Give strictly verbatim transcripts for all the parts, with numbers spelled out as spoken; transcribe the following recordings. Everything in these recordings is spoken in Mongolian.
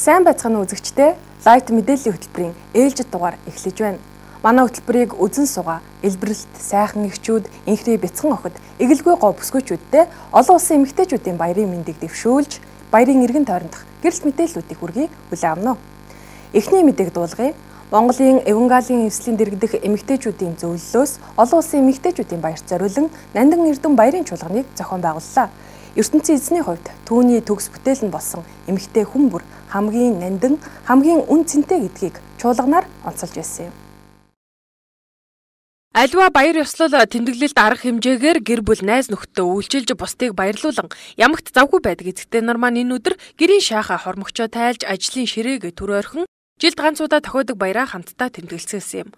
Сайн байцгаана уу үзэгчдээ. Лайт мэдээллийн хөтөлбөрийн ээлжид дугаар эхлэж байна. Манай хөтөлбөрийг үзэн суугаа, элбэрэлт, сайхан эхчүүд, инхрээ бяцхан охид, эгэлгүй гоо бүсгүйчүүдтэй олон улсын эмэгтэйчүүдийн баярын мэндийг дэвшүүлж, баярын эргэн тойрондох гэрэлт мэдээллүүдийг хүргэе хүлээн авна уу. Эхний мэдээг дуулгая. Монголын Евангелийн эвслийн дэргэдэх эмэгтэйчүүдийн зөвлөлөөс олон улсын эмэгтэйчүүдийн баярт зориулан Нандин Эрдэм баярын чуулганыг зохион байгууллаа. ертөнцийн эзний хувьд түүний төгс бүтээл нь болсон эмэгтэй хүн бүр хамгийн нандин, хамгийн үн цэнтэй гэдгийг чуулганаар онцолж байсан юм. Аливаа баяр ёслол тэмдэглэлд арга хэмжээгээр гэр бүл найз нөхдөд үйлчилж бусдыг баярлуулан ямагт завгүй байдаг эзэгтэй нар маань энэ өдөр гэрийн шааха хормогчоо тайлж ажлын ширээг түр ойрхон жилд ганцудаа тохиодог баяраа хамтдаа тэмдэглэсэн юм.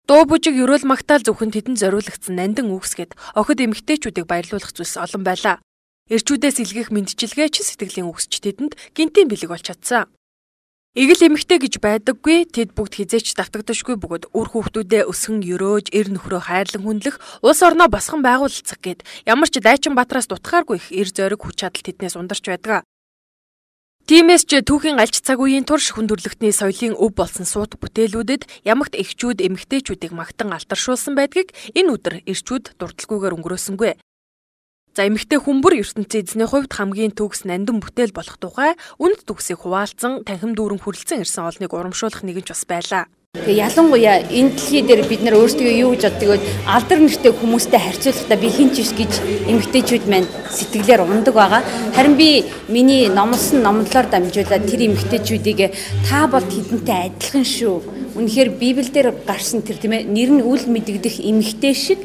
Дуу бужиг ерөөл магтаал зөвхөн тэдэнд зориулагдсан нандин үгсгээд охид эмэгтэйчүүдийг баярлуулах зүйлс олон байлаа. Эрчүүдээс илгээх мэндчилгээ ч сэтгэлийн үгсч тэдэнд гинтийн бэлэг болж чадсан. Игэл эмэгтэй гэж байдаггүй, тэд бүгд хизээч давтагдашгүй бөгөөд үр хүүхдүүдээ өсгөн өрөөж, эр нөхрөө хайрлан хүндлэх, улс орноо босгон байгуулалцах гээд ямар ч дайчин батраас дутхааргүй их эр зориг хүч чадал тэднээс ундарч байдаг. Тиймээс ч түүхийн альч цаг үеийн турш хүндрэлтний соёлын өв болсон суут бүтээлүүдэд ямагт эхчүүд эмэгтэйчүүдийг магтан алтаршуулсан байдгийг энэ өдөр эрчүүд дурдлагүйгээр өнгөрөөсөнгүй. За эмэгтэй хүмбэр ертөнцийн эзний хувьд хамгийн төгс нандин бүтээл болох тухай үнд төгсийг хуваалцсан танхим дүүрэн хүрлцэн ирсэн олныг урамшуулах нэгэн ч бас байлаа. Тэгээ ялангуяа энэ дэлхий дээр бид нар өөрсдөө юу гэж боддог вэ? Алдар нэртэй хүмүүстэй харьцуулахдаа би хинч биш гэж эмэгтэйчүүд маань сэтгэлээр ундаг байгаа. Харин би миний номлосон номлолоор дамжуулаад тэр эмэгтэйчүүдийг та бол тэдэнтэй адилхан шүү. Үнэхээр Библиэлд гарсан тэр тийм ээ нэр нь үл мэдэгдэх эмэгтэй шиг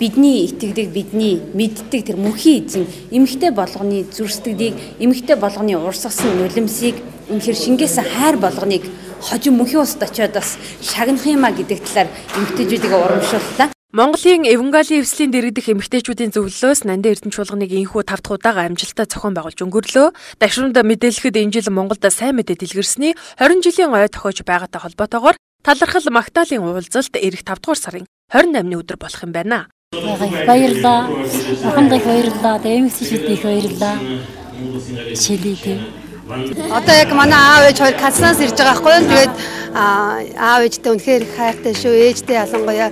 бидний итгэдэг, бидний мэддэг тэр мөнхийн эзэн эмэгтэй болгоны зүрстгэлийг, эмэгтэй болгоны урсгасан нулимсыг үнэхээр шингээсэн хайр болгоныг хожим мөнхийн устд очиод бас шагнах юмаа гэдэг талаар эмэгтэйчүүдийг урамшууллаа. Монголын Евангелийн эвслийн дэргэдэх эмэгтэйчүүдийн зөвлөлөөс Нандин Эрдэм чуулганыг инхүү тавд удаага амжилттай зохион байгуулж өнгөрлөө. Дашрамд мэдээлэхэд энэ жил Монголд сайн мэдээ дэлгэрсний хорин жилийн ой тохиож байгаатай холбоотойгоор талархал магтаалын уулзалт эх тавд дугаар сарын хорин наймны өдөр болох юм байна. Баярлалаа. Ахмадыг баярлалаа. Эмэгтэйчүүдийг их баярлалаа. Чилийтэй. Одоо яг манай аав ээж хоёр Казанаас ирж байгаа байхгүй юу? Тэгээд аав ээжтэй үнэхээр их хайртай шүү. Ээжтэй ялангуяа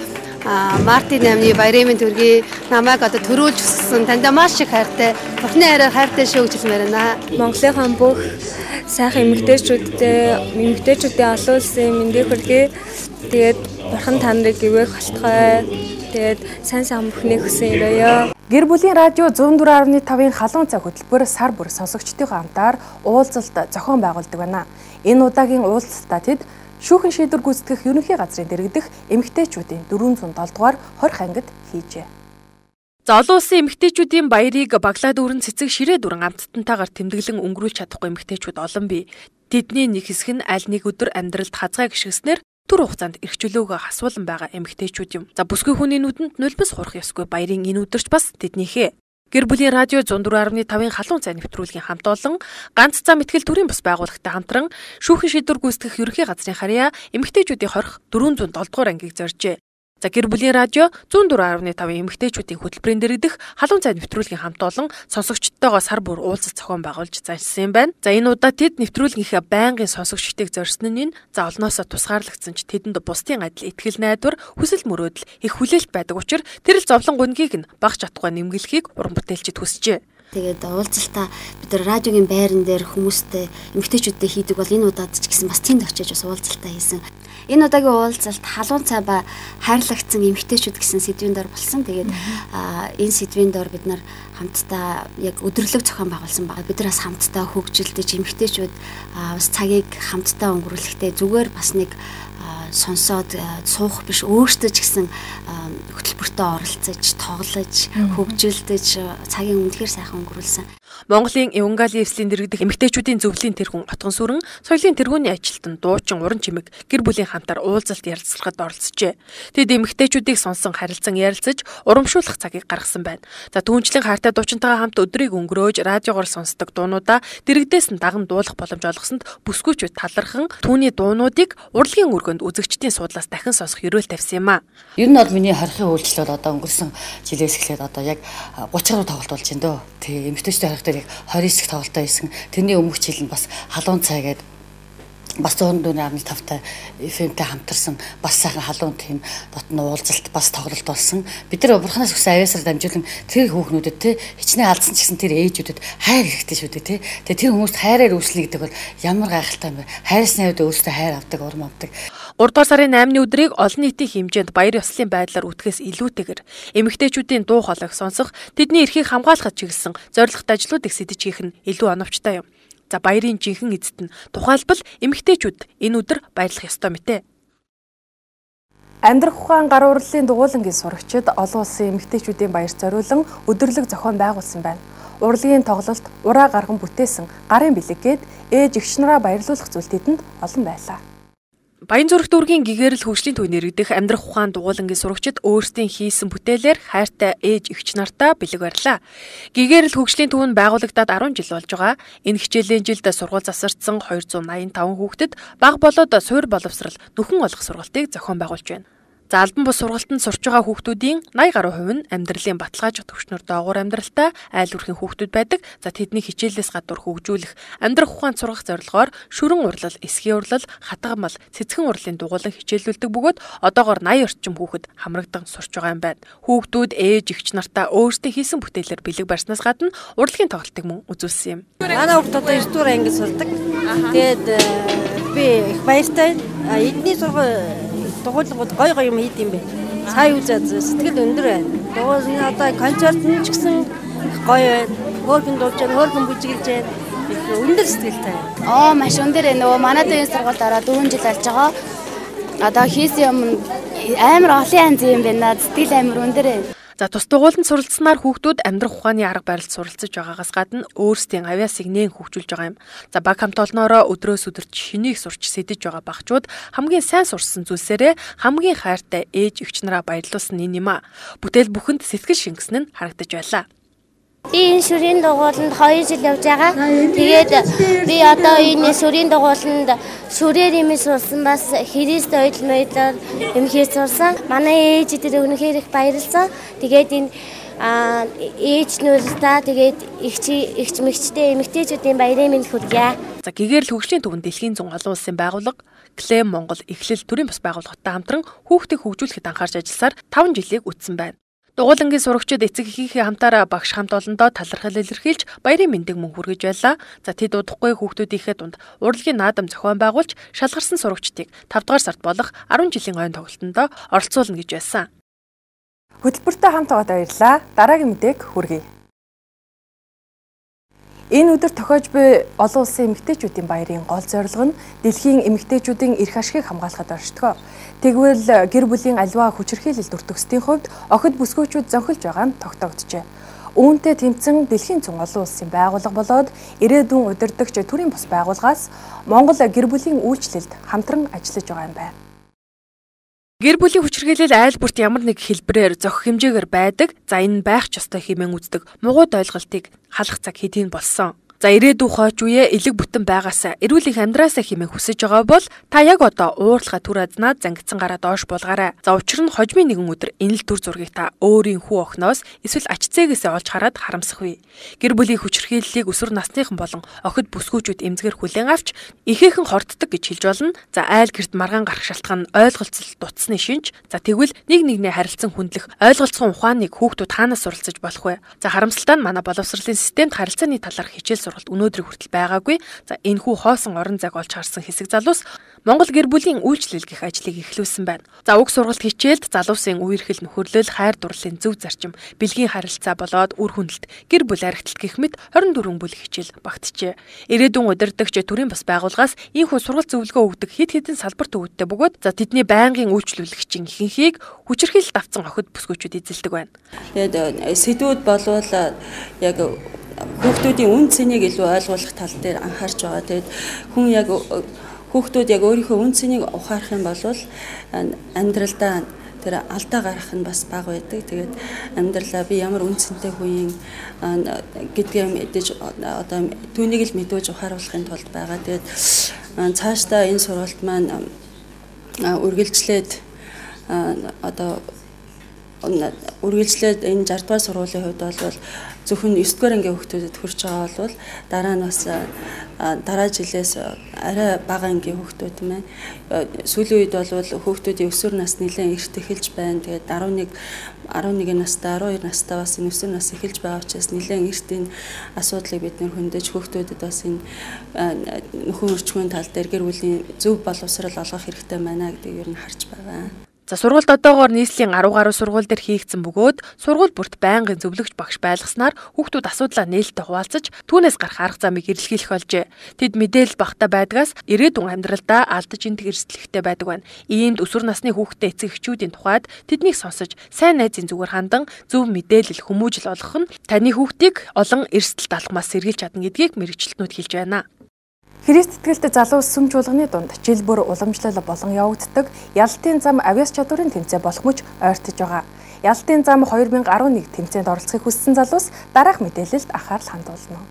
Мартин наймны баярын мэнд төргий намайг одоо төрүүлж өсгсөн. Тандаа маш их хайртай. Бурхны хайраар хайртай шүү гэж хэлмээр байна. Монголынхаа бүх сайхан эмэгтэйчүүдтэй эмэгтэйчүүдийн олон улсын мэндийг хүргэе. Тэгээд бурхан та нарыг ивэх болтугай. Тэгээд сайн сайн бүхнийг хүсэн өрөөё. Гэр бүлийн радио зүүн дөрвөн арван тавын халуун цаг хөтөлбөр сар бүр сонсогчдынхоо хамтаар уулзалт зохион байгуулдаг байна. Энэ удаагийн уулзалтаа тэд шүүхэн шийдвэр гүйцэтгэх ерөнхий газрын дэргэдэх эмэгтэйчүүдийн дөрвөн зуун долоо дугаар хорих ангид хийжээ. За олон улсын эмэгтэйчүүдийн баярыг баглаад өрн цэцэг ширээ дүрэн амттантайгаар тэмдэглэн өнгөрүүлж чадахгүй эмэгтэйчүүд олон бий. Тэдний нэг хэсэг нь аль нэг өдөр амьдралд хазгай гიშгснээр түр хугацаанд эрхчлөөгөө хасуулан байгаа эмэгтэйчүүд юм. За бүсгүй хүний нүдэнд нулимс хурах ёсгүй баярын энэ өдөрч бас тэднийхээ. Гэр бүлийн радио зүүн дөрвөн арван тавын халуун цай нэвтрүүлгийн хамт олон ганц зам итгэл төрийн бас байгууллагатай хамтран шүүхэн шийдвэр гүйцэтгэх ерөнхий газрын харьяа эмэгтэйчүүдийн хорих дөрвөн зуун долоо дугаар ангийг зоржээ. За гэр бүлийн радио зүүн дөрвөн арван тавын эмэгтэйчүүдийн хөтөлбөрийн дэргэдэх халуун цай нэвтрүүлгийн хамт олон сонсогчдтойгоо сар бүр уулзалт зохион байгуулж заншсан юм байна. За энэ удаа тэд нэвтрүүлгийнхээ байнгын сонсогчдыг зорьсон нь энэ за олноосоо тусгаарлагдсан ч тэдэнд бусдын адил итгэл найдвар хүсэл мөрөөдөл их хүлээлт байдаг учраас тэр л зовлон гунгийг нь багш чадахгүй нэмгэлхийг уран бүтээлчид хүсжээ. Тэгээд уулзалтаа бид нар радиогийн байран дээр хүмүүстэй эмэгтэйчүүдтэй хийдэг бол энэ удаад ч гэсэн бас тэнд очиж бас уулзалтаа хийсэн. Энэ удаагийн уулзалт халуун цай ба хайрлагдсан эмэгтэйчүүд гэсэн сэдвийн дор болсон. Тэгээд энэ сэдвийн дор бид нар хамтдаа яг өдөрлөг зохион байгуулсан байгаа. Бид нар бас хамтдаа хөгжилдэж эмэгтэйчүүд бас цагийг хамтдаа өнгөрүүлэхдээ зүгээр бас нэг сонсоод суух биш өөртөө ч гэсэн хөтөлбөртөө оролцож, тоглож, хөгжилдэж цагийн үнэхээр сайхан өнгөрүүлсэн. Монголын Евангелийн эвслийн дэргэдэх эмэгтэйчүүдийн зөвлөлийн тэргүүн Отгон сүрэн соёлын тэргүүний ажилтан дуучин уран чимэг гэр бүлийн хамтаар уулзалт ярилцлагад оролцжээ. Тэд эмэгтэйчүүдийг сонсон харилцан ярилцаж урамшуулах цагийг гаргасан байна. За түүнчлэн хайртай дуучинтайгаа хамт өдрийг өнгөрөөж радиогоор сонсдог дуунуудаа дэргэдээс нь даган дуулах боломж олгосонд бүсгүйчүүд талархан түүний дуунуудыг урлагийн өргөнд үзэгчдийн суудлаас дахин сонсох ёроол тавьсан юм а. Ер нь бол миний хорихын үйлчлэл бол одоо өнгөрсөн жилээс эхлээд одоо яг гуйч гаруй тоглолт болж байна дөө. Тэг эмэгтэйчүүд харих дээр яг двадцать хэсэг тоглолтоо хийсэн. Тэрний өмнөх жил нь бас халуун цай гэдэг бас one oh five тавтай эф эмтэй хамтарсан бас сайхан халуун тийм дотн уулзалт бас тоглолт болсон. Бид нар бурханаас өгсөн авьяасаар дамжуулан тэр хүүхнүүдэд те хичнээн алдсан ч гэсэн тэр ээжүүдэд хайр хэрэгтэй шүү дээ те. Тэгээ тэр хүмүүст хайраар үйлчлэх гэдэг бол ямар гайхалтай юм бэ? Хайрсны хувьд өөртөө хайр авдаг, урам авдаг. Урдугаар сарын eighны өдрийг олон нийтийн хэмжээнд баяр ёслолын байдлаар үтгэхээс илүүтэйгээр эмэгтэйчүүдийн дуу хоолойг сонсох, тэдний эрхийг хамгаалахад чиглэсэн зорилготой ажлуудыг сэтэж хийх нь илүү оновчтой юм. За баярын жинхэнэ эзэд нь тухайлбал эмэгтэйчүүд энэ өдөр баярлах ёстой мэтээ. Амьдрах ухаан гар урлалын дугуулангийн сурагчид олон улсын эмэгтэйчүүдийн баярт зориулан өдөрлөг зохион байгуулсан байна. Урлагийн тоглолт, ураа гарган бүтээсэн гарын бэлэгээд ээж эгч нараа баярлуулах зүйл тэдэнд олон байлаа. Баян зүрх дүүргийн гэгэрэл хөгжлийн төв нэрвдэх амьдрах ухаан дугуулангийн сурагчид өөрсдийн хийсэн бүтээлээр хайртай ээж эгч нартаа бэлэг барьлаа. Гэгэрэл хөгжлийн төв нь байгуулагдаад ten жил болж байгаа. Энэ хичээлийн жилд сургууль засарсан two hundred eighty-five хүүхдэд бага болоод суур боловсрал нөхөн олох сургалтыг зохион байгуулж байна. За албан бус сургалтанд сурч байгаа хүүхдүүдийн ninety гаруй хувь нь амьдралын баталгаажих төвчнөр доогуур амьдралтай айл хүрхийн хүүхдүүд байдаг. За тэдний хичээлээс гадуур хөгжүүлэх амьдрах ухаанд сургах зорилгоор шүрэн урлал, эсхийн урлал, хатгамал, цэцгэн урлалын дугуулан хичээлүүлдэг бөгөөд одоогоор eighty орчим хүүхэд хамрагдан сурч байгаа юм байна. Хүүхдүүд ээж эгч нартаа өөрсдийн хийсэн бүтээлээр бэлэг барьснаас гадна урлагийн тоглолтыг мөн үзүүлсэн юм. Манай хүүхд одоо nine дугаар анги сурдаг. Тэгээд би их баяртай. Эдний сургууль дугуулгууд гой гой юм хийд юм бэ. Сая үзээд сэтгэл өндөр байна. Дугуул одоо концерт нь ч гэсэн гоё байна. Хөөрхөн дуулж байна, хөөрхөн бүжиглж байна. Өндөр сэтгэлтэй. Аа маш өндөр ээ. Нөгөө манайд энэ сургуульд ороод four жил болж байгаа. Одоо хийсэн юм амар олон янз юм байна. Сэтгэл амар өндөр ээ. За тус дугууланд суралцсанаар хүүхдүүд амьдрах ухааны арга барилд суралцж байгаагаас гадна өөрсдийн авьяасыг нээн хөгжүүлж байгаа юм. За баг хамт олноороо өдрөөс өдөрт шинийг сурч сэдэж байгаа багчууд хамгийн сайн сурсан зүйлсээрээ хамгийн хайртай ээж эгч нараа баярлуулсан энэ юм а. Бүтээл бүхэнд сэтгэл шингэсэн нь харагдаж байлаа. Би энэ шүрийн дугууланд two жил явж байгаа. Тэгээд би одоо энэ шүрийн дугууланд шүрээр юм сурсан бас Христ ойл мойлоор юм хийж сурсан. Манай ээж дээр өнөхөр их баярлсан. Тэгээд энэ ээж нөрөлтөө тэгээд эгч эгч мэгчтэй эмэгтэйчүүдийн баярын мэнд хүргье. За гэгэрэл хөгжлийн төвөнд дэлхийн зүүн олон улсын байгууллага Клэм Монгол эхлэл төрийн бас байгууллагатай хамтран хүүхдийг хөгжүүлэхэд анхаарч ажилласаар five жилийг үтсэн байна. Дугуулангийн сурагчид эцэг эхийнхээ хамтаараа багш хамт олондоо талархал илэрхийлж баярын мэндийг мөн хүргэж байлаа. За тэд удахгүй хүүхдүүдийнхээ дунд урлагийн наадам зохион байгуулж шалгарсан сурагчдыг five дугаар сард болох ten жилийн ойн тоглолтонд оролцуулна гэж байсан. Хөтөлбөртэй хамт байгаад баярлалаа. Дараагийн мэдээг хүргэе. Энэ өдөр тохиож буй олон улсын эмэгтэйчүүдийн баярын гол зорилго нь дэлхийн эмэгтэйчүүдийн эрх ашигыг хамгаалахад оршдог. Тэгвэл гэр бүлийн аливаа хүчирхийлэлд өртөгсдийн хувьд охид бүсгүйчүүд зөнхөлж байгаа нь тогтоогджээ. Үүнтэй тэмцэн дэлхийн зүүн олон улсын байгууллага болоод ирээдүйн удирдагч төрийн бус байгууллагаас Монгол гэр бүлийн үйлчлэлд хамтран ажиллаж байгаа юм байна. Гэр бүлийн хүчирхийлэл айл бүрт ямар нэг хэлбэрээр зохих хэмжээгээр байдаг. За энэ байх ч ёстой хэмээн үздэг мугууд ойлголтыг халах цаг хэдийн болсон. За ирээдүйн хойч үе элэг бүтэн байгаасаа эрүүл их амьдраасаа хэмээн хүсэж байгаа бол та яг одоо уурлахаа түр азнаад зангидсан гараа доош болгоорой. За учир нь хожмын нэгэн өдөр энэ л төр зургийг та өөрийн хүү охиноос эсвэл ач зээгээсээ олж хараад харамсах вэ. Гэр бүлийн хүчирхийллийг өсвөр насныхан болон охид бүсгүүчүүд эмзгэр хүлээн авч ихээхэн хорддог гэж хэлж болно. За айл гэрт маргаан гарах шалтгаан нь ойлголцол дутсны шинж. За тэгвэл нэг нэгнээ харилцан хүндлэх ойлголцсон ухааныг хүүхдүүд хаанаас суралцаж болох вэ? За харамсалтай нь манай боловсролын системд харилцааны талаарх хичээл сургалт өнөөдрийг хүртэл байгаагүй. За энэхүү хоосон орон зайг олж харсан хэсэг залуус Монгол гэр бүлийн үйлчлэл гэх ажлыг эхлүүлсэн байна. За уг сургалт хичээлд залуусын үерхэл нөхөрлөл, хайр дурлалын зөв зарчим, бэлгийн харилцаа болоод үр хүндэлт, гэр бүл архитект гэх мэт twenty-four бүлэг хичээл багтжээ. Ирээдүйн удирдагч төрийн бас байгууллагаас ийхүү сургалт зөвлөгөө өгдөг хэд хэдэн салбар төвөдтэй бөгөөд за тэдний байнгын үйлчлүүлэгчийн ихэнхийг хүчирхийлэлд авсан охид бүсгүйчүүд эзэлдэг байна. Тэгээд сэдвүүд болвол яг хүүхдүүдийн үн цэнийг илүү ойлгуулах тал дээр анхаарч байгаа. Тэгээд хүн яг хүүхдүүд яг өөрийнхөө үн цэнийг ухаарах юм бол амьдралдаа тэр алдаа гарах нь бас бага байдаг. Тэгээд амьдралаа би ямар үн цэнтэй хүн юм гэдгээ мэдээж одоо түүнийг л мэдүүлж ухааруулахын тулд байгаа. Тэгээд цаашдаа энэ сургалт маань үргэлжлээд одоо үргэлжлээд энэ шард дугаар сургуулийн хувьд бол зөвхөн девь дугаар ангийн хүүхдүүдэд хүрч байгаа бол дараа нь бас дараа жилээс арай бага ангийн хүүхдүүд мэн сүүлийн үед бол хүүхдүүдийн өсвөр нас нэлээд эрт эхэлж байна. Тэгээд арван нэг арван нэг настай арван хоёр настай бас энэ өсвөр нас эхэлж байгаа учраас нэлээд эрт энэ асуудлыг бид нэр хөндөж хүүхдүүдэд бас энэ нөхөн өрчмөн тал дээр гэр бүлийн зөв боловсрол олгох хэрэгтэй байна гэдгийг ер нь харж байгаа. За сургуульд одоогоор нийслэлийн арав гаруй сургууль дээр хийгдсэн бөгөөд сургууль бүрт байнгын зөвлөгч багш байлгаснаар хүүхдүүд асуудлаа нээлттэй хуваалцаж түүнээс гарах арга замыг эрэлхийлэх болжээ. Тэд мэдээлэл багтаа байдгаас ирээдүйн амьдралдаа алдаж энтэг эрсдлэхтэй байдаг байна. Иймд өсвөр насны хүүхдтэй эцэг эхчүүдийн тухайд тэднийг сонсож сайн найзын зүгээр хандан зөв мэдээлэл хүмүүжил олгох нь таны хүүхдийг олон эрсдэлд алхмаас сэргийлж чадна гэдгийг мэрэгчлэтнүүд хэлж байна. Христ итгэлтэй залуу сүм чуулганы дунд жил бүр уламжлал болон явагддаг Ялалтын зам авиас чадварын тэмцээн болох мөч ойртож байгаа. Ялалтын зам хоёр мянга арван нэг тэмцээнд оролцохыг хүссэн залуус дараах мэдээлэлд анхаарал хандуулна.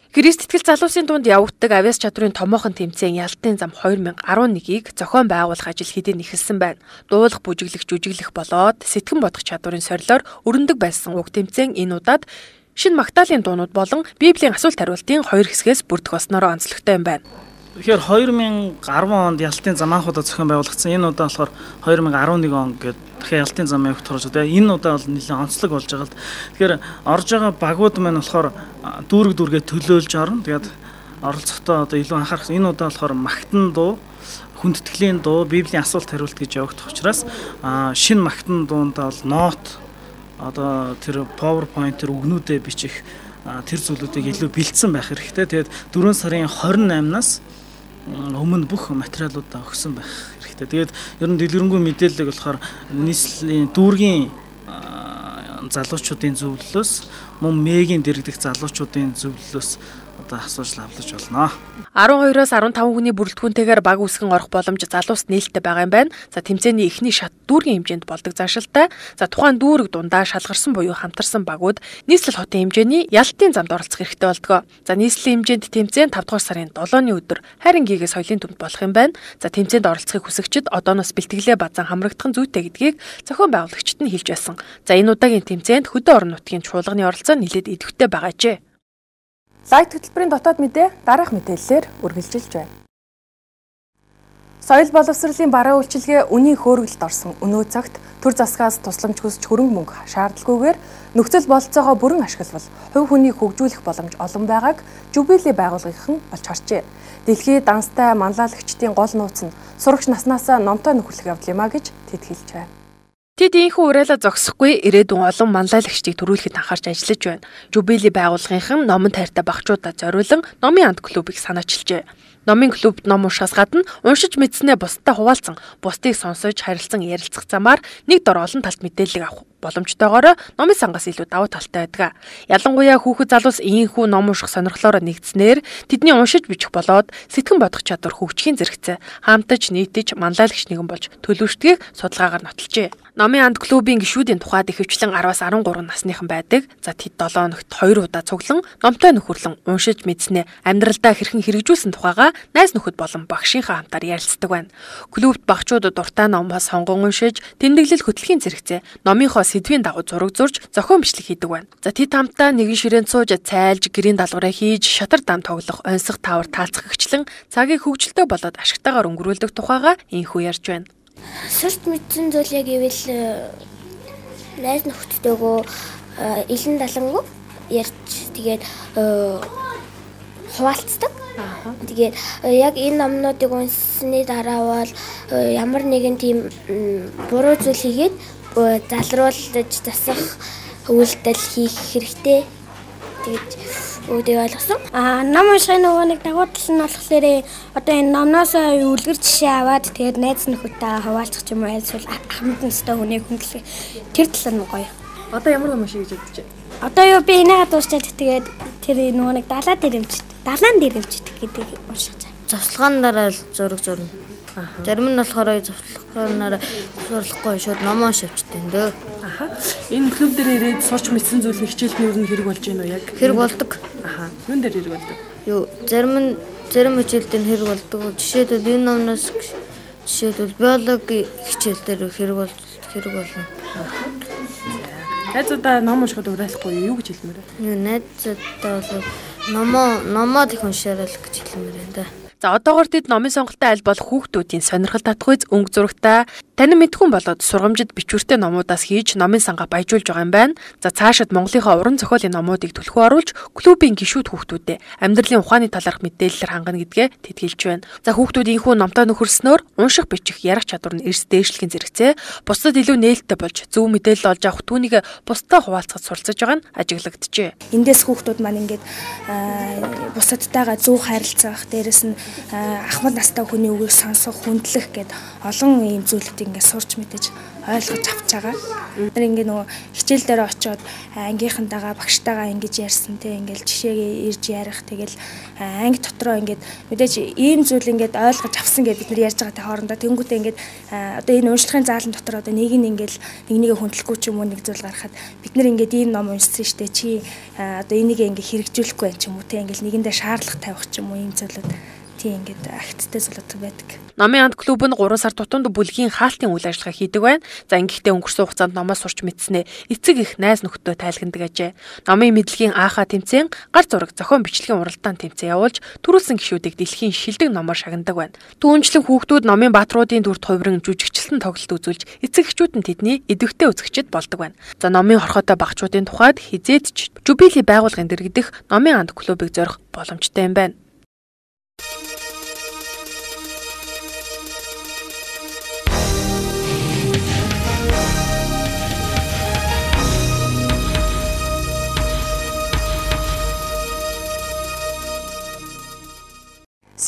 Христ итгэл залуусын дунд явагддаг авиас чадварын томоохон тэмцээн Ялалтын зам хоёр мянга арван нэгийг зохион байгуулах ажил хэдийн эхэлсэн байна. Дуулах, бүжиглэх, жүжиглэх болоод сэтгэн бодох чадварын сорилоор өрнөдөг байсан уг тэмцээн энэ удаад Шинэ Магдалины дуунууд болон Библийн асуулт хариултын хоёр хэсгээс бүрдэх болсноор онцлогтой юм байна. Тэгэхээр хоёр мянга арван онд Ялалтын зам анхудаа зохион байгуулагдсан. Энэ удаа болохоор хоёр мянга арван нэг он гэдэг тэгэхээр Ялалтын зам явах турш одоо энэ удаа бол нэлээд онцлог болж байгаа л. Тэгэхээр орж байгаа багууд маань болохоор дүүрэг дүүргээ төлөөлж орно. Тэгээд оролцохдоо одоо илүү анхаарах. Энэ удаа болохоор магтан дуу, хүндэтгэлийн дуу, Библийн асуулт хариулт гэж явагдах учраас шинэ магтан дуундаа бол нот одоо тэр PowerPoint тэр үгнүүдэд бичих тэр зүйлүүдийг илүү бэлдсэн байх хэрэгтэй. Тэгээд дөрвөн сарын хорин наймнаас өмнө бүх материалуудаа өгсөн байх хэрэгтэй. Тэгээд ер нь дэлгэрэнгүй мэдээлэл болохоор нийслэлийн дүүргийн залуучуудын зөвлөлөөс мөн мэгийн дэргэдэх залуучуудын зөвлөлөөс одоо асууж авлаж болно. арван хоёроос арван таван хүний бүрэлдэхүүнтэйгээр баг үсгэн орох боломж залуust нээлттэй байгаа юм байна. За тэмцээний эхний шат дүүргийн хэмжээнд болдог заашилтай. За тухайн дүүрэг дундаа шалгарсан буюу хамтарсан багууд нийслэл хотын хэмжээний Ялалтын замд оролцох хэрэгтэй болдог. За нийслэлийн хэмжээнд тэмцээн тавд дугаар сарын долооны өдөр хайрын гигээ соёлын төмд болох юм байна. За тэмцээнд оролцохыг хүсэгчид одооноос бэлтгэлээ базан хамрагдах нь зүйтэй гэдгийг зохион байгуулагчид нь хэлж байсан. За энэ удаагийн тэмцээнд хөдөө орон нутгийн чуулганы оролцоо нэлээд идэвхтэй байгаажээ. Лайв хөтөлбөрийн дотоод мэдээ дараах мэдээллээр үргэлжилж байна. Соёл боловсролын бараа үйлчилгээ үнийн хөөргөлд орсон өнөө цагт төр засгаас тусламж хүсч хөрөнгө мөнгө шаардлагагүйгээр нөхцөл бололцоогоо бүрэн ашиглавал хувь хүнийг хөгжүүлэх боломж олон байгааг Жубили байгууллагын олж харжээ. Дэлхийд данстай манлайлагчдын гол нууц нь сурагч наснаас номтой нөхөрлөх явдал юм а гэж тэд хэлж байна. Тэд ийхүү уриалаа зогсохгүй ирээдүйн олон манлайлагчдыг төрүүлэхэд анхаарч ажиллаж байна. Жубили байгууллагын номон тайртай багчуудад зориулан номын анд клубыг санаачилжээ. Номын клубд ном уншихаас гадна уншиж мэдснээ бусдад хуваалцсан, бусдыг сонсож харилцан ярилцах замаар нэг дор олон талт мэдээлэл авах боломжтойгоор номын сангаас илүү давуу талтай байдаг. Ялангуяа хүүхэд залуус ийхүү ном унших сонирхлоор нэгдснээр тэдний уншиж бичих болоод сэтгэн бодох чадвар хөгжихийн зэрэгцээ хаамтаж нийтэж манлайлагч нэгэн болж төлөвшдгийг судалгаагаар нотолжээ. Номын анд клубын гишүүдийн тухайд ихэвчлэн араваас арван гурван насныхан байдаг. За тэд долоо өнөخت хоёр удаа цуглан номтой нөхөрлөн уншиж мэдснээ амьдралдаа хэрхэн хэрэгжүүлсэн тухайга найз нөхөд болон багшийнхаа хамтаар ярилцдаг байна. Клубт багчууд дуртай номоос сонгон уншиж, тэмдэглэл хөтлөхийн зэрэгцээ номынхоо сэдвийн дагуу зураг зурж зохион бичлэг хийдэг байна. За тэд хамтаа нэгэн ширээнд сууж цайлж, гэрийн даалгавраа хийж, шатар дам тоглох, онцгой таавар таалцах гिचлэн цагийг хөвгөлтөө болоод ашигтайгаар өнгөрүүлдэг тухайга инхүү ярьж байна. Сурт мэдсэн зүйл яг ивэл найз нөхдөдөө илэн далангуу ярьж тэгээд хуваалцдаг. Тэгээд яг энэ номнуудыг унссны дараа бол ямар нэгэн тийм буруу зүйл хийгээд залруулж засах үйлдэл хийх хэрэгтэй. Тэгээд үүдээ ойлгосон. Аа ном уншихын нөгөө нэг дагуу тал нь болохоор одоо энэ номноос үлгэр жишээ аваад тэгээд найз нөхөдтэй хуваалцах юм уу эсвэл хамт настай хүнийг хөндлөх тэр тал нь гоё. Одоо ямар ном уншиж гэж бодож байна? Одоо юу би энийгээ дуусчаад тэгээд тэр нөгөө нэг далаа дэрэмжт, далаан дэрэмжт гэдэг уншиж байгаа. Завслагаанаараа зураг зурна. Зарим нь болохоор завслагаанаараа сурлахгүй шууд ном уншивчтай дөө. Аха. Энэ клуб дээр ирээд сурч мэдсэн зүйл хичээлд нь юу хэрэг болж байна уу яг? Хэрэг болдог. Аха. Юун дээр хэрэг болдог? Юу, зарим нь зарим хичээлд нь хэрэг болдог. Жишээлбэл энэ номноос жишээлбэл биологи хичээл дээр хэрэг болдог. хэрэг болно. Найзуудаа ном уншихад уриалахгүй юу гэж хэлмээр байна? Найзуудаа бол номоо номоо их уншаарай гэж хэлмээр байна да. За одоогоор тэд номын сонголтын аль бол хүүхдүүдийн сонирхол татхүйц өнгө зурагтай танин мэдхүн болоод сургамжид бичвэртэй номуудаас хийж номын сангаа баяжуулж байгаа юм байна. За цаашид Монголынхаа уран зохиолын номуудыг түлхүү оруулж клубийн гишүүд хүүхдүүдэд амьдралын ухааны талаарх мэдээлэлээр хангана гэдгээ тэд хэлж байна. За хүүхдүүд инхүү номтой нөхөрснөөр унших бичих ярих чадвар нь эрс дээшлэхийн зэрэгцээ бусдад илүү нээлттэй болж зөв мэдээлэл олж авах түүнийг бусдаа хуваалцахад суралцаж байгаа нь ажиглагджээ. Эндээс хүүхдүүд маань ингээд бусадтайгаа зөв харилцах, дээрэс нь ахмад настай хүний үгийг сонсох, хүндлэх гэд олон ийм зүйлүүдийг ингээд сурч мэдэж ойлгож авч байгаа. Тэр ингээд нөгөө хичээл дээр очиод ангийнхантайгаа багштайгаа ингэж ярьсан те ингээд жишээгээ ирж ярих, тэгэл анги дотроо ингээд мэдээж ийм зүйл ингээд ойлгож авсан гэд бид нар ярьж байгаатай хоорондоо тэнгуүтээ ингээд одоо энэ уншлагын заалан дотор одоо нэг нь ингээд нэг нэгэ хүндлэхгүй ч юм уу нэг зүйл гарахад бид нар ингээд ийм ном уншсан штэ чи одоо энийг ингээд хэрэгжүүлэхгүй байх ч юм уу те ингээд нэгэндээ шаардлага тавих ч юм уу ийм зүйлүүд тийм ингээд акттай зүйлүүд байдаг. Номын анд клуб нь гурван сар тутамд бүлгийн хаалтын үйл ажиллагаа хийдэг байна. За ингэхдээ өнгөрсөн хугацаанд номоо сурч мэдснээ эцэг их найз нөхдөд тайлгандаг ажээ. Номын мэдлэгийн аахаа тэмцээн гар зураг зохион бичлэгийн уралдаан тэмцээн явуулж төрүүлсэн гишүүдийг дэлхийн шилдэг номоор шагнадаг байна. Түүнчлэн хүүхдүүд номын баатруудын дүрд хувиран жүжигчлэн тоглолт үзүүлж эцэг эхчүүд нь тэдний идэвхтэй үзэгчд болдог байна. За номын хорхотой багчуудын тухайд хизээд ч Жубили байгууллагын дэргэдэх номын анд клубыг зорих боломжтой юм байна.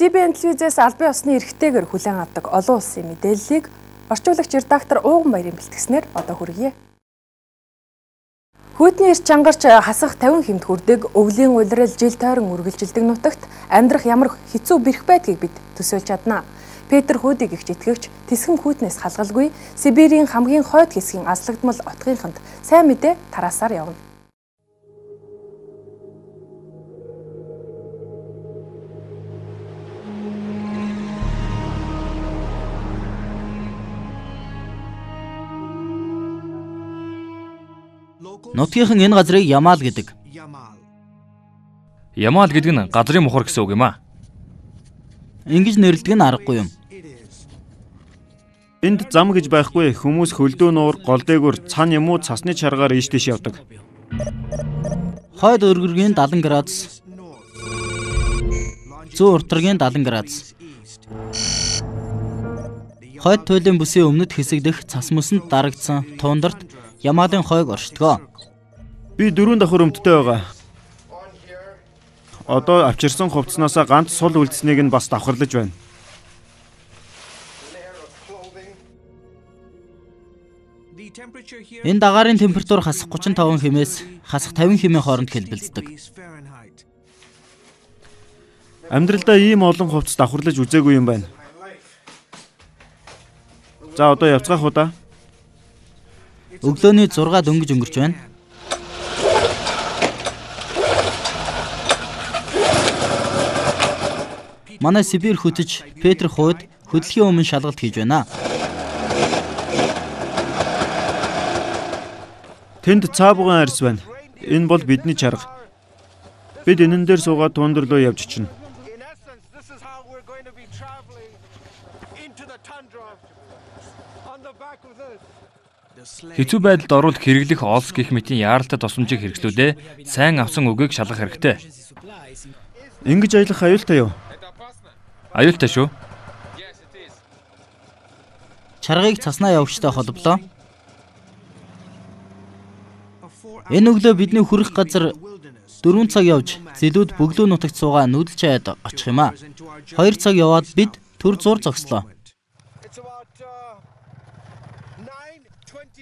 си би эн телевизээс албан ёсны эрхтэйгээр хүлээн авдаг олон улсын мэдээллийг орчуулагч редактор Ууган Баярын бэлтгэснээр одоо хүргье. Хүйтний эрч чангарч хасах тавин хэмт хүрдэг өвлийн улирал жил тойрон үргэлжилдэг нутагт амьдрах ямар хэцүү бэрх байдгийг бид төсөөлж чадна. Петр Хүүдийг их итгэвч Тэсхэм хүйтнээс халгалгүй Сибирийн хамгийн хойд хэсгийн азлагдмал отгийнханд сайн мэдээ тараасаар явна. Нутгийнхан энэ газрыг Ямаал гэдэг. Ямаал гэдэг нь газрын мухар гэсэн үг юм аа. Ингэж нэрлэдэг нь аргагүй юм. Энд зам гэж байхгүй хүмүүс хөлдөө нуур гол дээгүүр цан юм уу цасны чаргаар ийш тийш явдаг. Хойд өргөргийн дадан градус. Зүүн уртаргийн дадан градус. Хойд туйлын бүсийн өмнөд хэсэг дэх цас мөсөнд дарагдсан туундарт Ямаалын хойг оршдгоо. Би дөрөв давхар өмдтэй байгаа. Одоо авчирсан хувцснаасаа ганц сул үлдсэнийг нь бас давхарлаж байна. Энэ дагаарын температур хасах гучин таван хэмээс хасах тавин хэмээ хооронд хэлбэлцдэг. Амьдралдаа ийм олон хувцас давхарлаж үзээгүй юм байна. За одоо явцгаах удаа. Өглөөний зургаад өнгөж өнгөрч байна. Манай Сибирь хөтөж Петр Хууд хөдөлгөөний өмнө шалгалт хийж байна. Тэнд цаабган арьс байна. Энэ бол бидний чарга. Бид энэн дээр суугаад тундр руу явж чинь. Хэцүү байдалд оруулах хэрэглэх олс гэх мэтийн яаралтай тусламжийг хэрэглүүлээ. Сайн авсан үгийг шалгах хэрэгтэй. Ингэж аялах аюултай юу? Аюултай шүү. Чаргыг цаснаа явагчтай холболоо. Энэ өглөө бидний хүрэх газар дөрвөн цаг явж зэлүүд бөглөө нутагт суугаа нүүдэл чаяад очих юм а. Хоёр цаг яваад бид төр зур зогслоо.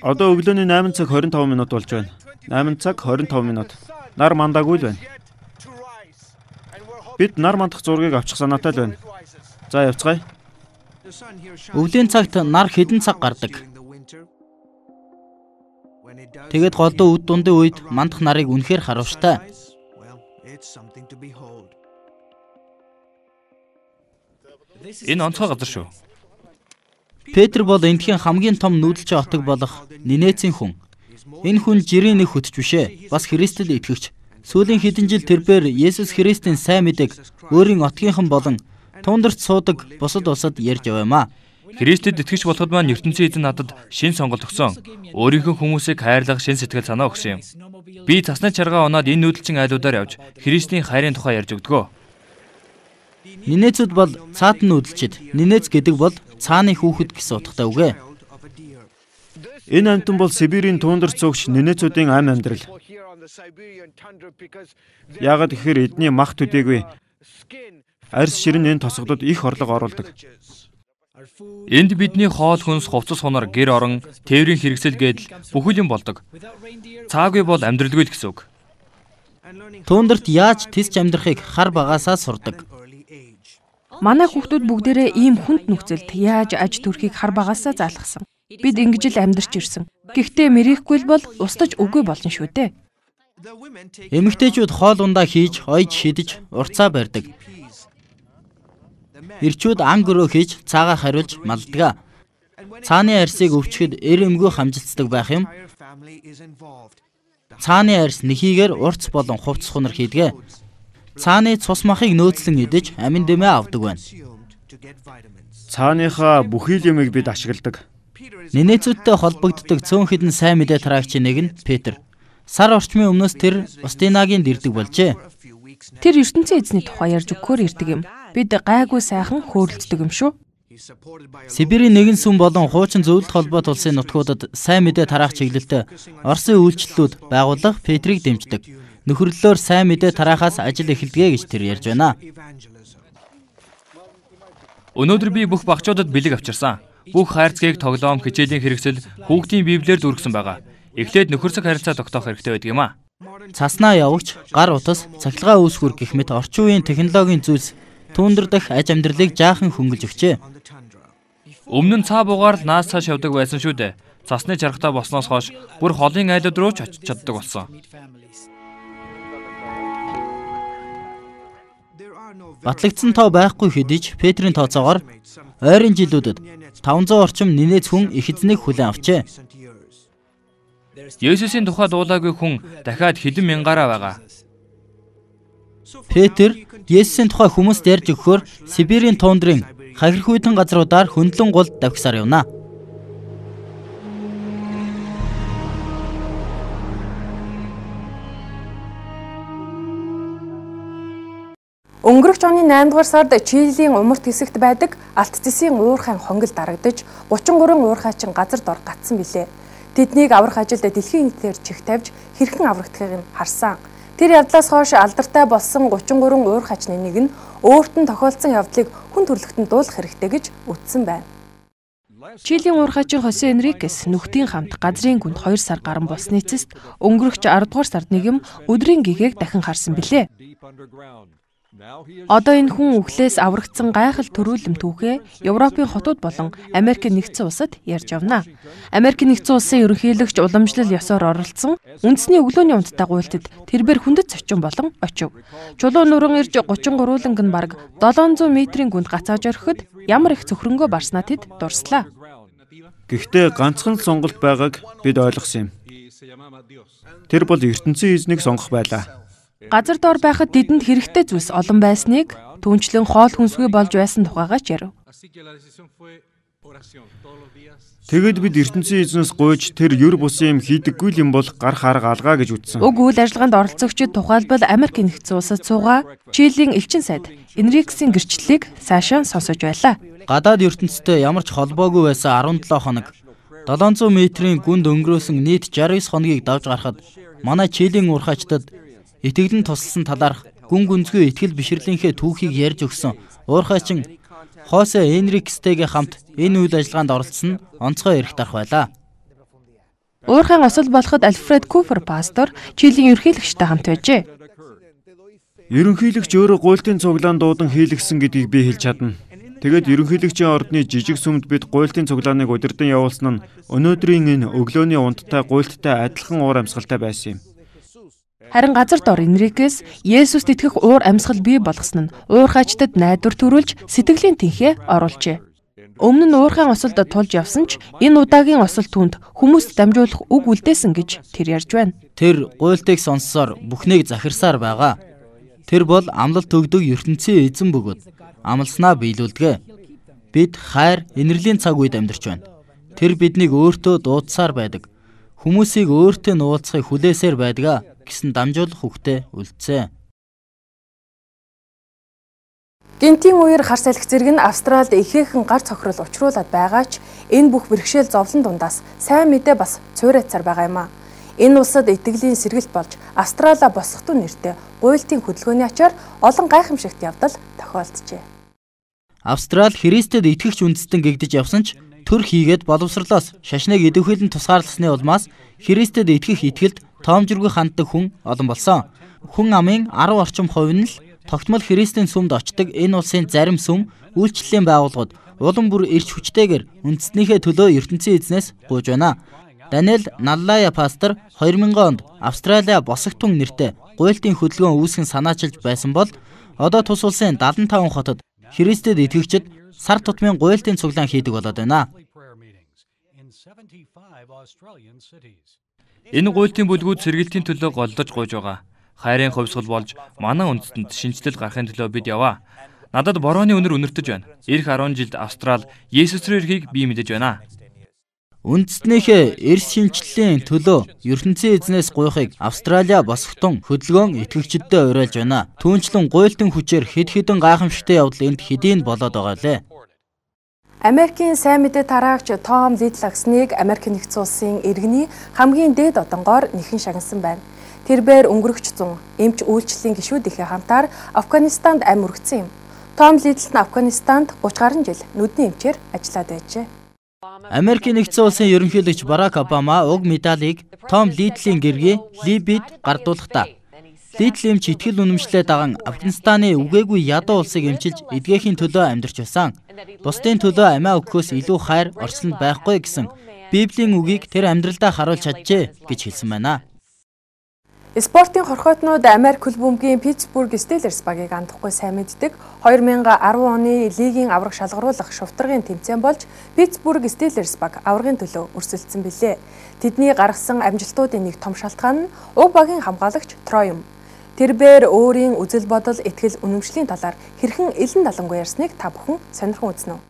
Одоо өглөөний найман цаг хорин таван минут болж байна. найман цаг хорин таван минут. Нар мандаагүй л байна. Бид нар мандах зургийг авчих санаатай л байна. За явцгаая. Өвлийн цагт нар хэдэн цаг гардаг. Тэгээд голдуу үд дундын үед мандах нарыг үнэхээр харуулжтай. Энэ онцгой газар шүү. Петр бол эндхийн хамгийн том нүүдэлч отог болох Нинецийн хүн. Энэ хүн жирийн нэг хөтч бишээ. Бас Христэд итгэгч. Сүүлийн хэдэн жил тэрбээр Есүс Христийн сайн мэдээг өөрийн отгийнхан болон туундарт суудаг бусад улсад ярьж яваамаа. Христэд итгэж болоход маань ертөнцийн эзэн надад шин сонголт өгсөн. Өөрийнхөө хүмүүсийг хайрлах шин сэтгэл санаа өгсөн юм. Би цасны чаргаа унаад энэ нүүдэлчин айлуудаар явж Христийн хайрын тухай ярьж өгдөгөө. Нинецүүд бол цаатан нүүдэлчид. Нинец гэдэг бол цааны хүүхэд гэсэн утгатай үг ээ. Энэ амтан бол Сибирийн туундарт суугч Нинецүүдийн ам амьдрал. Яагаад гэхээр эдний мах төдийгүй арьс ширэн энэ тосгодод их орлого оруулдаг. Энд бидний хоол хүнс, хувцас хунар, гэр орон, тээврийн хэрэгсэл гэдэл бүхэл юм болдог. Цаагүй бол амьдралгүй л гэсэн үг. Туундарт яаж тисч амьдрахыг хар багасаа сурдаг. Манай хүүхдүүд бүгдээрээ ийм хүнд нөхцөлд яаж аж төрхийг хар багасаа заалгасан. Бид ингэж л амьдарч ирсэн. Гэхдээ мэрийхгүй бол устж үгүй болно шүү дээ. Эмэгтэйчүүд хоол ундаа хийж, ойж шидэж, урцаа барьдаг. Ирчүүд ан гөрөө хийж, цаагаар хариулж малддаг. Цааны арьсыг өвчгөд эр эмгүү хамжилцдаг байх юм. Цааны арьс нэхийгээр урц болон хувцс хунар хийдэг. Цааны цус махыг нөөцлөн идэж амин дэмээ авдаг байна. Цааныхаа бүхий л юмыг бид ашигладаг. Нинецүүдтэй холбогддог цөөн хэдэн сайн мэдээ тараагчийн нэг нь Петр. Сар орчмын өмнөөс тэр Устинагийн дэрдэг болжээ. Тэр ертөнцийн эзний тухай ярьж өгөхөөр ирдэг юм. Бид гайгүй сайхан хөөрөлддөг юм шүү. Сибирийн нэгэн сүм болон хуучин зөвлөлт холбоот улсын нутгуудад сайн мэдээ тараах чиглэлтэй Оросын үйлчлэлүүд байгуулах Петрийг дэмждэг. Нөхөрлөлөөр сайн мэдээ тараахаас ажил эхэлдэгэ гэж тэр ярьж байна. Өнөөдөр би бүх багчуудад бэлэг авчирсан. Бүх хайрцгийг тоглоом, хичээлийн хэрэгсэл, хүүхдийн библиэр дүүргэсэн байгаа. Эхлээд нөхөрсөг харилцаа тогтоох хэрэгтэй байдаг юм а. Цаснаа явагч, гар утас, цахилгаан үүсгүр гэх мэт орчин үеийн технологийн зүйлс түүндэр дах аж амьдралыг жаахан хөнгөлж өгчээ. Өмнө нь цаа бугаар л наас цааш явдаг байсан шүү дээ. Цасны чаргатай болсноос хойш бүр холын айлууд руу ч очиж чаддаг болсон. Батлагдсан тоо байхгүй хэдий ч Петрийн тооцоогоор ойрын жилүүдэд таван зуун орчим Нинец хүн их эзнийг хүлээн авчээ. Есүсийн тухай дуулаагүй хүн дахиад хэдэн мянгаараа байгаа. Петр Есүсийн тухай хүмүүст ярьж өгөхөөр Сибирийн туундрын хахирхүйдэн газруудаар хөндлөн гол давхисаар явна. Өнгөрөх оны наймд дугаар сард Чилийн умарт хэсэгт байдаг Алт Зэсийн уурхайн хонгил дарагдаж гучин гурван уурхайчин газар дор гатсан билээ. Тэднийг аврах ажилд дэлхийн нийтээр чих тавьж хэрхэн аврагдахыг нь харсан. Тэр явдлаас хойш алдартай болсон гучин гурван уурхайчны нэг нь өөрт нь тохиолдсон явдлыг хүн төрөлхтөнд дуулах хэрэгтэй гэж үздсэн байна. Чилийн уурхайчин Хосе Энрикес нүхтийн хамт газрын гүнд хоёр сар гарan болсны эцэст өнгөрөх арав дугаар сард нэгэн өдрийн гэгээг дахин харсан билээ. Одоо энэ хүн үхлээс аврагдсан гайхал төрүүлэм түүхээ Европын хотууд болон Америкийн нэгдсэн улсад ярьж явна. Америкийн нэгдсэн улсын ерөнхийлөгч уламжлал ёсоор оролцсон үндэсний өглөөний унттай гуйлтад тэрбээр хүндэт зочин болон очив. Чулуун нуран ирж гучин гурвууланг нь бараг долоон зуун метрийн гүнд гацааж орхиход ямар их цөхрөнгөө барснаа тэд дурслаа. Гэхдээ ганцхан л сонголт байгааг бид ойлгосон юм. Тэр бол ертөнцийн эзнийг сонгох байлаа. Газар дор байхад тэдэнд хэрэгтэй зүйлс олон байсныг түнчлэн хоол хүнсгүй болж байсан тухайгаач ярив. Тэгэд бид ертөнцийн эзнээс гуйж тэр ёр бусын юм хийдэггүй юм бол гар харга алгаа гэж үздсэн. Уг үйл ажиллагаанд оролцогчид тухайлбал Америкийн нэгдсэн улсад суугаа Чилийн элчин сайд Энрикесийн гэрчлэлийг сайшаа сонсож байлаа. Гадаад ертөнцтэй ямар ч холбоогүй байсан арван долоо хоног долоон зуун метрийн гүнд өнгөрөөсөн нийт шестдесят девять хоногийг давж гарахад манай Чилийн уурхайчдад итгэлэн тусалсан талаарх гүн гүнзгий итгэл бишрлийнхээ түүхийг ярьж өгсөн уурхайчин Хосе Энрикестэйгээ хамт энэ үйл ажиллагаанд оролцсон нь онцгой эрх дарах байлаа. Уурхайн осол болоход Альфред Купер пастор Чилийн ерөнхийлөгчтэй хамт байжээ. Ерөнхийлөгч өөрөө гуйлтын цуглаан дуудан хийлгсэн гэдгийг би хэлж чадна. Тэгэд ерөнхийлөгчийн ордны жижиг сүмд бид гуйлтын цуглааныг удирдан явуулсан нь өнөөдрийн энэ өглөөний унттай гуйлттай адилхан уур амьсгалтай байсан юм. Харин газар дор Энрикес Есүст итгэх уур амьсгал бий болгосон нь уурхайчдад найдвар төрүүлж сэтгэлийн тэнхээ оруулжээ. Өмнө нь уурхайн осолд тулж явсан ч энэ удаагийн осол түнд хүмүүст дамжуулах үг үлдээсэн гэж тэр ярьж байна. Тэр гуйлтыг сонссоор бүхнийг захирсаар байгаа. Тэр бол амлалт өгдөг ертөнцийн эзэн бөгөөд амлснаа биелүүлдэг. Бид хайр, инэрлийн цаг үед амьдарч байна. Тэр биднийг өөртөө дуудсаар байдаг. Хүмүүсийг өөртөө нуулцахыг хүлээсээр байдаг гэсэн дамжуулах үгтэй үлдсэн. Гинтийн үеэр хар салхи зэрэг нь Австралид ихээхэн гар цохрол учруулад байгаа ч энэ бүх бэрхшээл зовлон дундаас сайн мэдээ бас цуурайцаар байгаа юм а. Энэ улсад итгэлийн сэргэлт болж Австраlia босготун нэртэй гуйлтын хөдөлгөөний ачаар олон гайхамшигт явдал тохиолджээ. Австрали Христэд итгэгч үндэстэн гэгдэж явсан ч төр хийгээд боловсрлоос шашныг идэвхэлэн тусгаарласны улмаас Христэд итгэх итгэлд тоомжиргүй ханддаг хүн олон болсон. Хүн амын арав орчим хувь нь л тогтмол Христийн сүмд очдог энэ улсын зарим сүм үйлчлэлийн байгууллагууд улам бүр эрч хүчтэйгээр үндэстнийхээ төлөө ертөнцийн эзнээс гуйж байна. Даниэл Наллая пастор хоёр мянган онд Австраlia босготун нэртэй гуйлтын хөдөлгөөн үүсгэн санаачилж байсан бол одоо тус улсын дадлан таван хотод Христэд итгэгчид сар тутмын гуйлтын цуглаан хийдэг болоод байна. Энэ гуйлтын бүлгүүд сэргэлтийн төлөө голдож гуйж байгаа. Хайрын хувьсгал болж манай үндэстэнд шинжилэл гарахын төлөө бид яваа. Надад борооны үнэр үнэртэж байна. Ирэх арван жилд Австрали Есүс рүү ирэхийг би мэдэж байна. Үндэстнийхээ эрс шинжиллийн төлөө ертөнцийн эзнээс гуйхыг Австралия босготун хөдөлгөөн итгэгчдэд уриалж байна. Түүнчлэн гуйлтын хүчээр хэд хэдэн гайхамшигтай явдал энд хэдийн болоод байгаа лээ. Америкийн сайн мэдээ тараагч Том Лидлаксныг Америк нэгдсэн улсын иргэний хамгийн дээд одонгоор нэхэн шагнасан байна. Тэрбээр өнгөрөгч зун эмч үйлчлэлийн гишүүдийнхээ хамтаар Афганистанд амь үргэсэн юм. Том Лидл нь Афганистанд гуравч гаруй жил нүдний эмчээр ажиллаад байжээ. Америкийн нэгдсэн улсын ерөнхийлөгч Барак Обама уг медалийг Том Лидлийн гэргий Либид гардуулахдаа Лидл эмч итгэл үнэмшлээ даган Афганистаны үгээгүй ядуу улсыг эмчилж эдгээхийн төлөө амьдарч байсан. Бусдын төлөө амиа өгөхөөс илүү хайр орчлонд байхгүй гэсэн Библийн үгийг тэр амьдралдаа харуулж чаджээ гэж хэлсэн байна. Спортын хорхойтнууд Америк хөл бөмбөгийн Питтсбург Стиллерс багийг андахгүй сайн мэддэг. хоёр мянган арван оны лигийн авраг шалгаруулах шувтаргын тэмцээн болж Питтсбург Стиллерс баг аврагын төлөө өрсөлдсөн билээ. Тэдний гаргасан амжилтуудын нэг том шалтгаан нь уг багийн хамгаалагч Трой юм. Тэрбээр өөрийн үзэл бодол, итгэл үнэмшлийн талаар хэрхэн элен далангуй ярьсныг та бүхэн сонирхон үзнэ үү?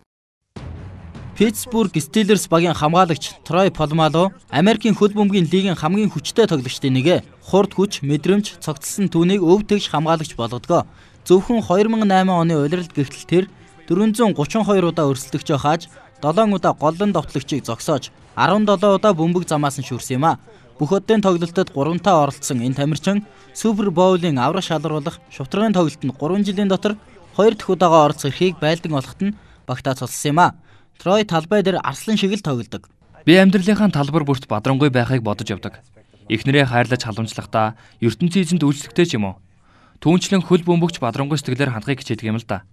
Питтсбург Стиллерс багийн хамгаалагч Трой Полмало Америкийн хөл бөмбөгийн лигийн хамгийн хүчтэй тоглогчдын нэг. Хурд хүч, мэдрэмж, цогцлсон түүнийг өв тэгш хамгаалагч болгодгоо. Зөвхөн хоёр мянган найман оны улиралд гэгтэл тэр дөрвөн зуун гуравч хоёр удаа өрсөлдөгчөө хааж, долоон удаа голлон довтлогчийг зогсоож, арван долоон удаа бөмбөг замаас нь шүрсэн юм а. Бүх оддын тоглолтод гуравтаа оролцсон энэ тамирчин Супер Боулын аврах шалгаруулах шувтаргын тоглолтод гурван жилийн дотор хоёр дахь удаага оролцох эрхийг байлдан олоход нь багтаа цолсон юм а. Трой талбай дээр арслан шиг л тоглодог. Би амьдралынхаа талбар бүрт бадрангуй байхыг бодож явдаг. Эхнэрээ хайрлаж халамжлахдаа ертөнцийн эзэнд үйлчлэгтэй ч юм уу. Түүнчлэн хөл бөмбөгч бадрангуй сэтгэлээр хандахыг хичээдэг юм л да.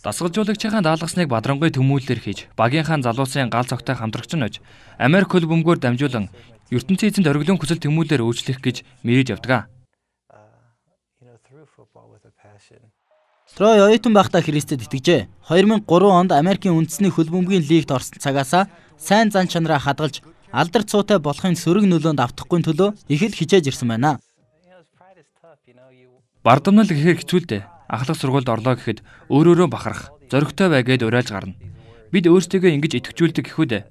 Дасгалжуулагчийн даалгасныг бадрангуй төмүүлэлээр хийж, багийнхаа залуусын гал цогтой хамтрагч нь ож, Америк хөл бөмбөгөөр дамжуулан ертөнцийн эзэнд оргилын хүсэл төмүүлэлээр үйлчлэх гэж мэрэж явдаг. Трой оюутан байхдаа Христэд итгэжээ. хоёр мянган гурван онд Америкийн үндэсний хөл бөмбөгийн лигт орсон цагаасаа сайн зан чанараа хадгалж, алдар цуутай болохын сөрөг нөлөөнд автахгүй төлөө их л хичээж ирсэн байна. Бардамнал гэхээр хэцүү л дээ. Ахлах сургуульд орлоо гэхэд өөрөөрөө бахарах, зоригтой бай гэд уриалж гарна. Бид өөрсдөө ингэж итгэжүүлдэг гэхүү дээ.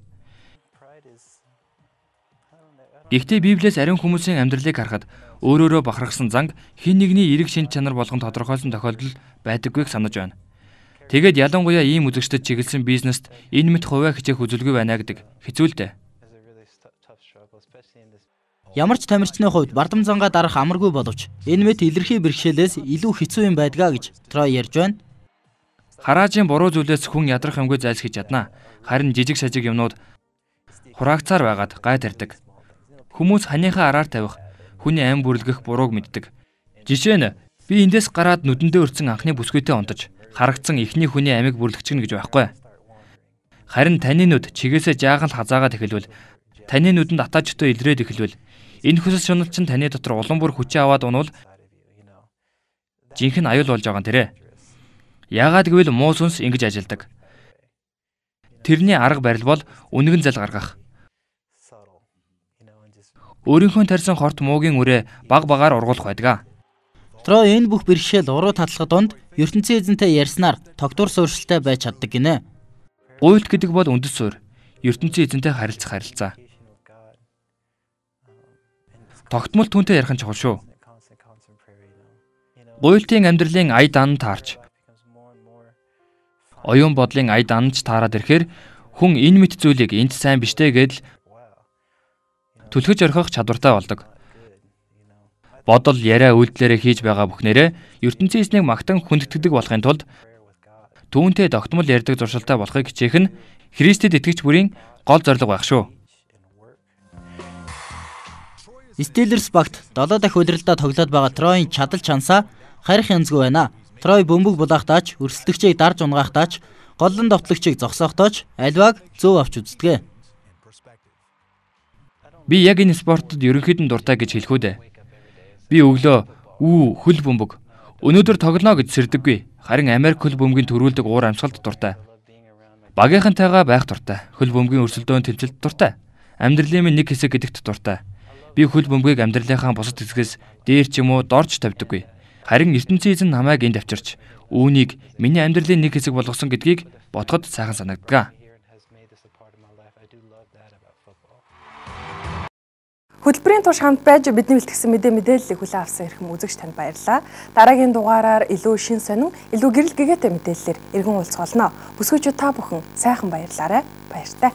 Гэхдээ Библиэс ариун хүмүүсийн амьдралыг харахад өөрөөрөө бахархсан занг хин нэгний эрэг шинж чанар болгон тодорхойлсон тохиолдол байдаггүйг санаж байна. Тэгээд ялангуяа ийм үзэгчдэд чиглэсэн бизнест энэ мэт хувиа хичээх үзүүлгүй байна гэдэг хэцүүлтэй. Ямар ч тамирчны хувьд бардам зангаа дарах амаргүй боловч энэ мэт илэрхий бэрхшээлээс илүү хэцүү юм байдгаа гэж Трой ярьж байна. Хараажийн буруу зүйлээс хүн ядрах юмгүй зайлсхийж чадна. Харин жижиг сажиг юмнууд хураагцаар байгаад гай тарьдаг. Хүмүүс ханыхаа араар тавих, хүний ам бүрлгэх бурууг мэддэг. Жишээ нь би эндээс гараад нүдэндээ өрцөн анхны бүсгүйтэй онтож, харагдсан эхний хүний амийг бүрлгчихнэ гэж байхгүй. Харин таны нүд чигээсээ жаахан хазаагаад эхэлвэл, таны нүдэнд атаачтай илрээд эхэлвэл, энэ хүсэл шуналчин таны дотор улам бүр хүчээ аваад унвал жинхэнэ аюул болж байгаа нэрэ. Яагаад гэвэл муу сүнс ингэж ажилдаг. Тэрний арга барил бол үнэгэн зал гаргах. Өөрийнхөө тарьсан хорт муугийн үрээ баг багаар ургуулах байдаг. Трой энэ бүх бэрхшээл уруу татлах донд ертөнцийн эзэнтэй ярьснаар тогтвор суурьшилтай байж чаддаг гинэ. Гуйлт гэдэг бол үндэс суурь. ертөнцийн эзэнтэй харилцах харилцаа. Тогтмол түүнтэй ярих нь чухал шүү. Гуйлтын амьдралын ая дан таарч оюун бодлын ая данч таарад ирэхээр хүн энэ мэт зүйлийг энд сайн биштэй гэдэл түлхэж орхих чадвартай болдог. Бодол, яриа, үйлдэлээрээ хийж байгаа бүхнээрээ ертөнцийн эзнийг магтан хүндэтгэдэг болохын тулд түүнтэй тогтмол ярьдаг зуршилтай болохыг хичээх нь Христэд итгэгч бүрийн гол зорилго байх шүү. Стиллерс багт долоо дахь удирдалтаа тоглоод байгаа Тройн чадал чансаа харих янзгүй байна. Трой бөмбөг булаахтаач, өрсөлдөгчийг дарж унгахтаач, голлон довтлогчийг зогсоохтооч альвааг зөв авч үздэг. Би яг энэ спортод ерөнхийдөө дуртай гэж хэлэх үү дээ. Би өглөө үү хөл бөмбөг өнөөдөр тоглоно гэж сэрдэггүй. Харин Америк хөл бөмбөгийн төрүүлдэг уур амьсгалд дуртай. Багийнхантайгаа байх дуртай. Хөл бөмбөгийн өрсөлдөөн тэмцэлд дуртай. Амьдралын минь нэг хэсэг гэдэгт дуртай. Би хөл бөмбөгийг амьдралынхаа бусад хэсгээс дээр ч юм уу дорж тавьдаггүй. Харин ертөнцийн эзэн намайг энд авчирч үүнийг миний амьдралын нэг хэсэг болгосон гэдгийг бодоход сайхан санагддаг. Хөтөлбөрийн турш хамт байж бидний бэлтгэсэн мэдээ мэдээллийг хүлээн авсан эрхэм үзэгч танд баярлалаа. Дараагийн дугаараар илүү шин сонин, илүү гэрэл гэгээтэй мэдээллээр иргэн уулзах болно. Бүсгүйчүүд та бүхэн сайхан баярлаарай. Баяртай.